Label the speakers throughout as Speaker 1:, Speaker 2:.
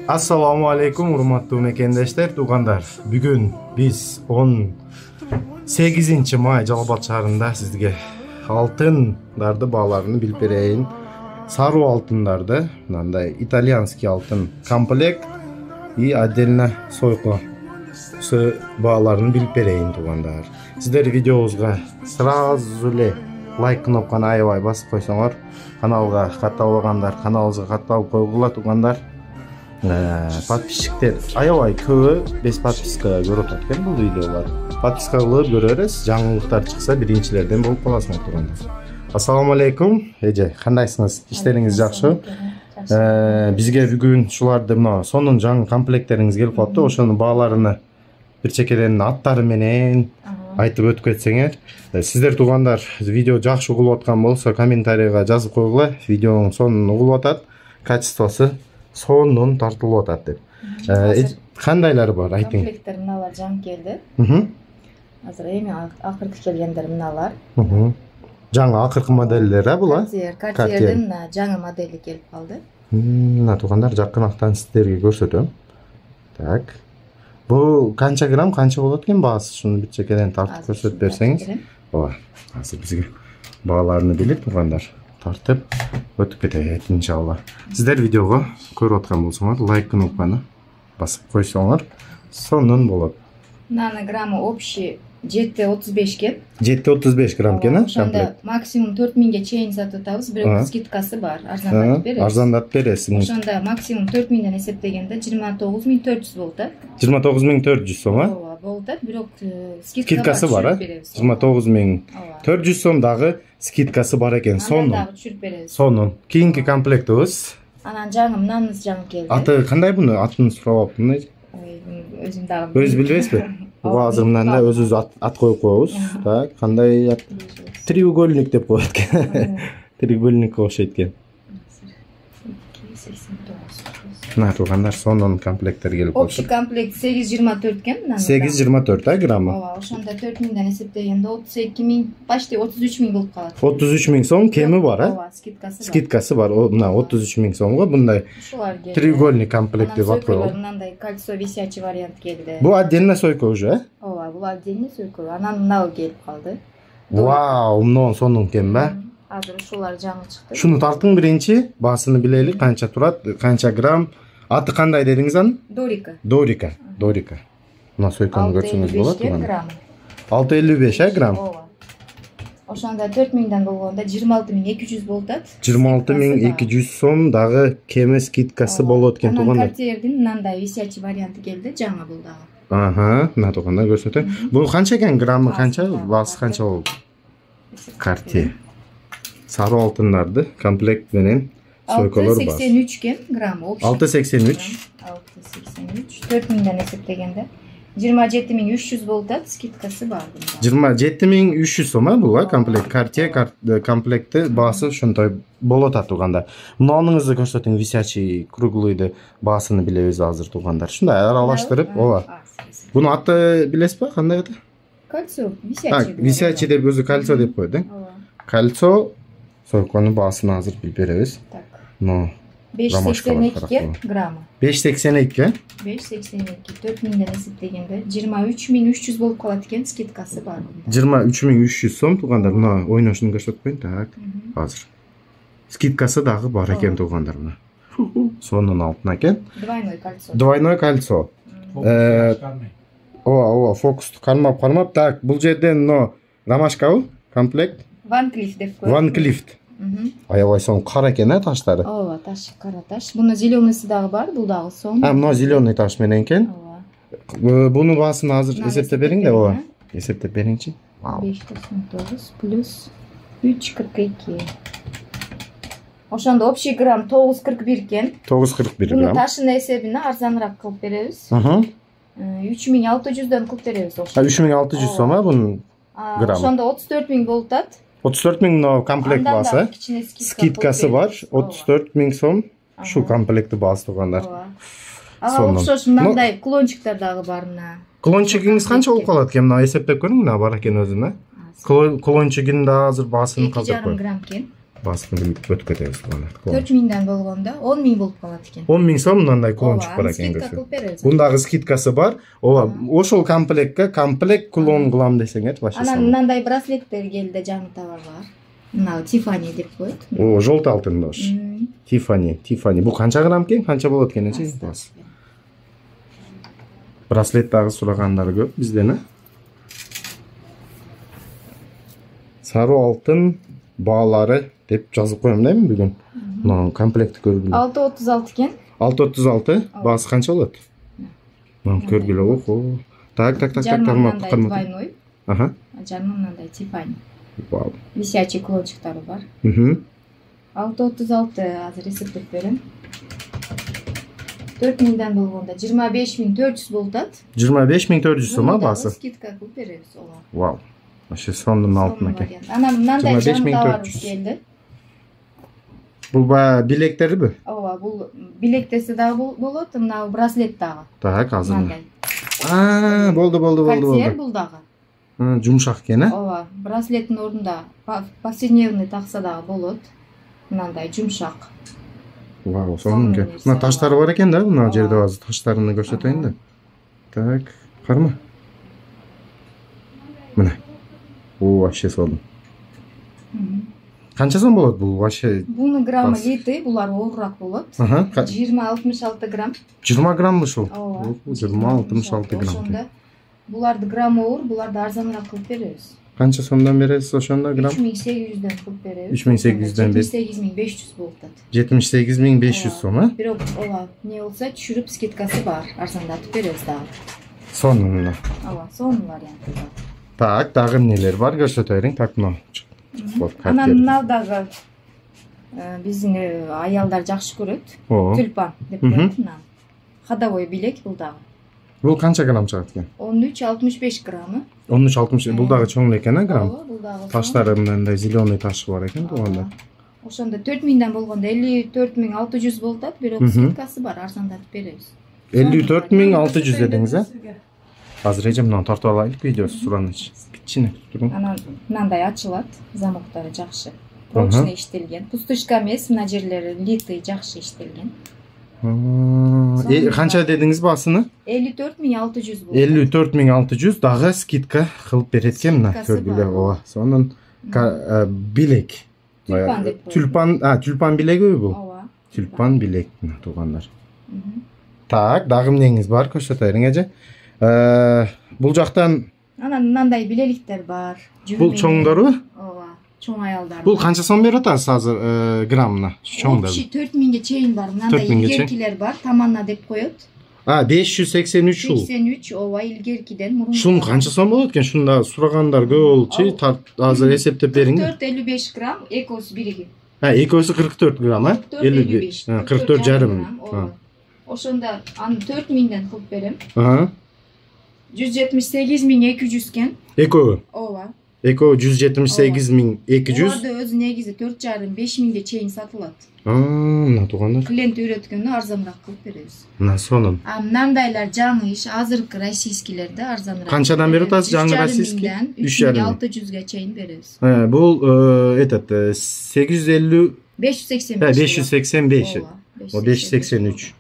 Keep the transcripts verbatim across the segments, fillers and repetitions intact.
Speaker 1: Assalamu alaikum урматтуу мекендештер, туугандар. Бүгүн биз он сегизинчи май Жалал-Абад шаарында сизге алтындарды бааларын билип берейин. Саруу алтындарды, мындай итальянский алтын комплект и отдельно сойко бааларын билип берейин, туугандар. Сиздер видеобузга сразу эле лайк кнопканы аябай басып койсоңор, каналга катталбагандар каналыбызга катталып койгула, туугандар. Подписчиктер аябай көбү без подписка көрүп атат экен бул видеолор. Подписка кылып көрө бересиз, жаңылыктар чыкса биринчилерден болуп каласыңар, туугандар. Ассаламу алейкум. Эже, кандайсыңыз? Иштериңиз жакшы? Бизге бүгүн шуларды мына сонун жаңы комплекттериңиз келип калыптыр. Ошонун бааларыны бир чекеден аттары менен айтып өтүп кетсеңер. Сиздер туугандар видео жакшы угулуп аткан болсо комментарийга жазып койгула. Видеонун сонун угулуп атат, качествосу сонун тартылып атат деп. Кандайлары бар айтың?
Speaker 2: Комплекттер мыналар жаңы келди. Азыр эми акыркы келгендер мыналар.
Speaker 1: Жаңы акыркы модельдер, а була?
Speaker 2: Картиердин жаңы модели келип калды.
Speaker 1: Мына туугандар жакынактан сиздерге көрсөтөм. Так. Бул канча грамм, канча болот экен баасы? Шуну бир чекеден тартып көрсөтүп берсеңиз. Ооба. Азыр бизге бааларını билип туугандар тартып өтүп кетет иншалла. Сиздер видеого көрүп аткан болсоңор, лайк кнопканы басып койсоңор, сонун болот.
Speaker 2: Наны граммы общий жети отуз беш экен.
Speaker 1: жети отуз беш грамм экен, а?
Speaker 2: Ошондо максимум төрт миңге чейин сатып атабыз, бирок скидкасы бар, арзандатып беребиз.
Speaker 1: Арзандатып бересиз.
Speaker 2: Ошондо максимум төрт миңден эсептегенде жыйырма тогуз миң төрт жүз болот, а?
Speaker 1: жыйырма тогуз миң төрт жүз сом, а?
Speaker 2: Ооба, болот, бирок
Speaker 1: скидкасы бар, а? жыйырма тогуз миң төрт жүз сом дагы скидкасы бар экен. Сонун.
Speaker 2: Дагы түшүрүп беребиз.
Speaker 1: Сонун. Кийинки комплектибиз.
Speaker 2: Анан жаңы мынаныз жаңы келди.
Speaker 1: Аты кандай буну? Атын сурап атпын.
Speaker 2: Өзүм дагы.
Speaker 1: Өзү билбейсизби? Буга азыр мындан да өзүбүз ат коюп коебуз. Так, кандай ат? Треугольник деп коет экен. Треугольникке окшойт экен. Мына туугандар сонун комплекттер келип калды.
Speaker 2: Общий комплект сегиз жыйырма төрт экен мына.
Speaker 1: сегиз жыйырма төрт, а, граммы?
Speaker 2: Ооба, ошондо төрт миңден эсептегенде отуз эки миң, почти отуз үч миң болуп калат.
Speaker 1: отуз үч миң сом кеми бар, а?
Speaker 2: Ооба, скидкасы бар.
Speaker 1: Скидкасы бар. Мына отуз үч миң сомго мындай треугольник комплект деп аткан.
Speaker 2: Мындай кольцо висячий вариант келди.
Speaker 1: Бул отдельно сойко уже, а?
Speaker 2: Ооба, бул отдельно сойко. Анан мынау келип калды.
Speaker 1: Вау, мынау сонун экен ба?
Speaker 2: Азыр ушулар жаңы чыкты.
Speaker 1: Шуну тартың биринчи, баасыны билели, канча турат, канча грамм. Аты кандай дедиңиз аны?
Speaker 2: Дорика.
Speaker 1: Дорика, Дорика. Мына сойкону көрсөңүз болот. алты элүү беш, а, грамм?
Speaker 2: Ооба. Ошондо төрт миңден болгондо жыйырма алты миң эки жүз болуп атат.
Speaker 1: жыйырма алты миң эки жүз сом дагы кеме скидкасы болот экен, туугандар.
Speaker 2: Анан Картиердин мындай висячий варианты келди, жаңы бул дагы.
Speaker 1: Аха, мына туугандар көрсөтөм. Бул канча экен, граммы канча, баасы канча болот? Картиер. Сары алтындарды комплект менен сойколор бар.
Speaker 2: алты сексен үч экен граммы.
Speaker 1: алты сексен үч.
Speaker 2: алты сексен үч. төрт миңден эсептегенде жыйырма жети миң үч жүз болуп атат, скидкасы бар бунда.
Speaker 1: жыйырма жети миң үч жүз сом, а, бул, а, комплект. Картиер комплекти баасы ошонтой болот атат, туугандар. Мунуңузду көрсөтүң, висячий круглыйды баасыны билебиз азыр, туугандар. Шундай аралаштырып, ооба. Буну аты билесизби, кандай аты?
Speaker 2: Кольцо, висячий.
Speaker 1: Висячий деп өзү кольцо деп коет, э? Кольцо сойконун баасын азыр билип беребиз.
Speaker 2: Так.
Speaker 1: Но
Speaker 2: беш сексен эки граммы.
Speaker 1: беш сексен эки.
Speaker 2: беш сексен эки. төрт миңден эсептегенде жыйырма үч миң үч жүз болуп калат экен, скидкасы бар.
Speaker 1: жыйырма үч миң үч жүз сом, туугандар. Мына ойношун көрсөтүп коеюн. Так. Азыр. Скидкасы дагы бар экен, туугандар, мына. Сонун алтын экен.
Speaker 2: Двойной кольцо.
Speaker 1: Двойной кольцо. Ооба, ооба, фокусту кармап, кармап. Так, бул жерден но ромашкабы? Комплект?
Speaker 2: Ван Клифф деп коет.
Speaker 1: Ван Клифф. Аябай сонун кара экен, а, таштары?
Speaker 2: Ооба, таш, кара таш. Бунун зеленыйсы дагы бар, бул дагы сонун.
Speaker 1: А, мына зеленый таш менен экен.
Speaker 2: Ооба.
Speaker 1: Бунун баасын азыр эсептеп бериң да, ооба. Эсептеп бериңчи.
Speaker 2: беш токсон тогуз плюс үч кырк эки. Ошондо общий грамм тогуз кырк бир экен.
Speaker 1: тогуз кырк бир грамм.
Speaker 2: Бунун ташынын эсебине арзаныраак кылып беребиз. үч миң алты жүздөн кылып беребиз ошо.
Speaker 1: үч миң алты жүз сом, а, бунун граммы?
Speaker 2: Ошондо отуз төрт миң болуп атат.
Speaker 1: отуз төрт миң но комплект баасы. Скидкасы бар. отуз төрт миң сом. Шу комплекти баасы, туугандар.
Speaker 2: Ага, окшош мындай клончиктер дагы бар мына.
Speaker 1: Клончигиңиз канча болуп калат экен? Мына эсептеп көрүң, мына бар экен өзүнө. Клончигин да азыр баасын казып
Speaker 2: эки жарым грамм экен.
Speaker 1: Баскын билип өтүп кетебиз буну.
Speaker 2: төрт миңден болгондо он миң болуп калат экен.
Speaker 1: он миң сом мындай клон чыгып бар экен.
Speaker 2: Скидка кылып беребиз.
Speaker 1: Бундагы скидкасы бар. Ооба, ошол комплектке комплект клон кылам десеңер, башы.
Speaker 2: Анан мындай браслеттер келди, жаңы товар бар. Мына Tiffany деп коет.
Speaker 1: О, жолто алтын дош. Tiffany, Tiffany. Бул канча грамм экен? Канча болот экен эчи? Браслет дагы сурагандар көп бизден, э? Сары алтын баалары деп жазып коем дейм бүгүн. Мына комплектти көргүлө.
Speaker 2: алты отуз алты экен.
Speaker 1: алты отуз алты. Баасы канча болот? Мына көргүлө. Охо. Так, так, так, так, тармак
Speaker 2: двойной.
Speaker 1: Аха.
Speaker 2: Жарма мындай Tiffany.
Speaker 1: Вау.
Speaker 2: Висячий клончуктары бар.
Speaker 1: Мм.
Speaker 2: алты отуз алты азыр эсептеп берем. төрт миңден болгондо жыйырма беш миң төрт жүз болуп атат.
Speaker 1: жыйырма беш миң төрт жүз сом баасы.
Speaker 2: Скидка кылып беребиз ага.
Speaker 1: Вау. Вообще сондун алтын экен.
Speaker 2: Анан мындай жаңы товарыбыз келди.
Speaker 1: Бул ба билектериби?
Speaker 2: Ооба, бул билектеси дагы болот, мына браслет дагы.
Speaker 1: Так, азыр. А, болду, болду, болду, болду.
Speaker 2: Бул дагы.
Speaker 1: Жумшак экен, э?
Speaker 2: Ооба, браслеттин ордунда повседневный такса дагы болот. Мындай жумшак.
Speaker 1: Вау, сонун экен. Мына таштары бар экен да, мына жерде азыр таштарын көрсөтөйүн да. Так, карма. Мына. О, вообще сонун. Канча сом болот бул вообще?
Speaker 2: Бунун граммы литр, булар оорураак болот. жыйырма алтымыш алты грамм.
Speaker 1: жыйырма грамм ушул.
Speaker 2: Ооба.
Speaker 1: жыйырма алтымыш алты грамм.
Speaker 2: Ошондо буларды граммы оор, буларды арзаныраак кылып беребиз.
Speaker 1: Канча сомдон бересиз ошондо грамм?
Speaker 2: үч миң сегиз жүздөн кылып беребиз.
Speaker 1: үч миң сегиз жүздөн
Speaker 2: жетимиш сегиз миң беш жүз болуп атат.
Speaker 1: жетимиш сегиз миң беш жүз сом, э?
Speaker 2: Бирок ооба, не болсо түшүрүп скидкасы бар, арзандатып беребиз дагы.
Speaker 1: Сонун.
Speaker 2: Ооба, сонун варианты бар.
Speaker 1: Так, дагы эмнелер бар көрсөтө бериң. Так, мына.
Speaker 2: Анан мына дагы биздин аялдар жакшы көрөт. Тюльпан деп коет мына. Ходовой билек бул дагы.
Speaker 1: Бул канча грамм чыгат экен?
Speaker 2: он үч алтымыш беш граммы.
Speaker 1: он үч алтымыш. Бул дагы чоң экен, э, грамм?
Speaker 2: Ооба, бул дагы.
Speaker 1: Таштары мындай зеленый ташы бар экен тууганда.
Speaker 2: Ошондо төрт миңден болгондо элүү төрт миң алты жүз болуп атат, бирок скидкасы бар, арзандатып беребиз.
Speaker 1: элүү төрт миң алты жүз дедиңиз, э? Азыр эже мынаны тартып алайлык, видеосу сураныч. Кичине туруң.
Speaker 2: Анан мындай ачылат, замоктары жакшы. Прочный иштелген. Пустышка эмес, мына жерлери литый жакшы иштелген.
Speaker 1: Канча дедиңиз баасыны?
Speaker 2: элүү төрт миң алты жүз болот.
Speaker 1: элүү төрт миң алты жүз дагы скидка кылып берет экен мына көргүлө. Ооба, сонун билек.
Speaker 2: Тюльпан деп коет.
Speaker 1: Тюльпан, а, тюльпан билеги бул?
Speaker 2: Ооба.
Speaker 1: Тюльпан билек мына туугандар. Так, дагы эмнеңиз бар көрсөтө бериң эже. Бул жактан
Speaker 2: анан мындай билеликтер бар.
Speaker 1: Бул чоңдору?
Speaker 2: Ооба, чоң аялдар.
Speaker 1: Бул канча сом берип атасыз азыр граммына? Чоңдор.
Speaker 2: төрт миңге чейин бар. Мындай илгеркилер бар, таманна деп коет.
Speaker 1: А, беш жүз сексен үч ул.
Speaker 2: сексен үч, ооба, илгеркиден мурун.
Speaker 1: Шунун канча сом болот экен? Шунда сурагандар көп болчу. Азыр эсептеп бериң.
Speaker 2: кырк төрт элүү беш грамм, экөөсү бириги.
Speaker 1: А, экөөсү кырк төрт грамм, э?
Speaker 2: элүү беш.
Speaker 1: кырк төрт жарым.
Speaker 2: Ошондо аны төрт миңден кылып берем.
Speaker 1: Ага.
Speaker 2: жүз жетимиш сегиз миң эки жүз экен.
Speaker 1: Экөө?
Speaker 2: Ооба.
Speaker 1: Экөө жүз жетимиш сегиз миң эки жүз.
Speaker 2: Буларды өзү негизи төрт жарым беш миңге чейин сатылат.
Speaker 1: Аа, мына туугандар.
Speaker 2: Клиент үйрөткөндө арзаныраак кылып беребиз.
Speaker 1: Мына сонун.
Speaker 2: А мындайлар жаңы иш, азыркы российскилерде арзаныраак.
Speaker 1: Канчадан берип атасыз жаңы российский?
Speaker 2: үч миң алты жүзгө чейин беребиз.
Speaker 1: Э, бул этот сегиз жүз элүү
Speaker 2: беш жүз сексен беш.
Speaker 1: беш жүз сексен беш. О беш жүз сексен үч.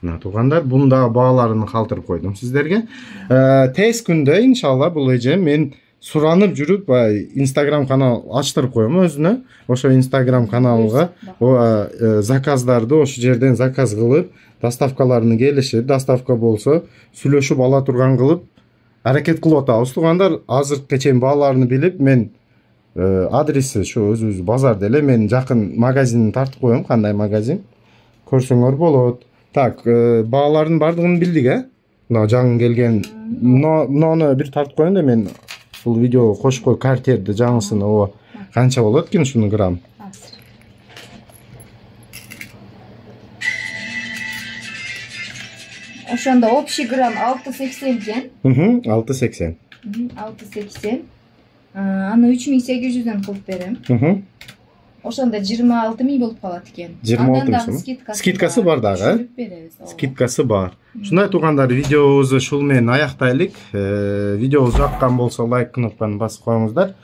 Speaker 1: Мына туугандар, буну да бааларын калтырып койдум сиздерге. Тез күндө иншалла бул эже мен суранып жүрүп Instagram канал ачтырып коем өзүнө. Ошо Instagram каналга заказдарды ошо жерден заказ кылып, доставкаларını келишип, доставка болсо сүйлөшүп ала турган кылып аракет кылып атабыз туугандар. Азыркы чейин бааларын билип, мен адреси ошо өзүбүз базарда эле, мен жакын магазинин тартып коем, кандай магазин көрсөңөр болот. Так, баалардын бардыгын билдик, э? Мына жаңы келген. Мынаны бир тартып коеюн да мен бул видеого кошуп кой картерди жаңысын, ооба. Канча болот экен шуну грамм?
Speaker 2: Ошондо общий грамм алты сексен экен.
Speaker 1: Мм, алты сексен.
Speaker 2: алты сексен. Аны үч миң сегиз жүздөн кылып берем.
Speaker 1: Мм.
Speaker 2: Ошондо жыйырма алты миң болуп калат экен.
Speaker 1: жыйырма алты миң. Скидкасы бар дагы, э? Скидкасы бар. Шундай туугандар, видеобузду ушул менен аяктайлык. Видеобуз жаккан болсо лайк кнопканы басып коюңуздар.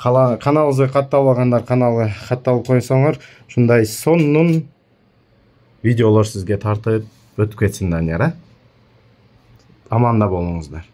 Speaker 1: каналыбызга катталбагандар каналга катталып койсоңор, ушундай сонун видеолор сизге тартып өтүп кетсин, Данияр, а? Аманда болуңуздар.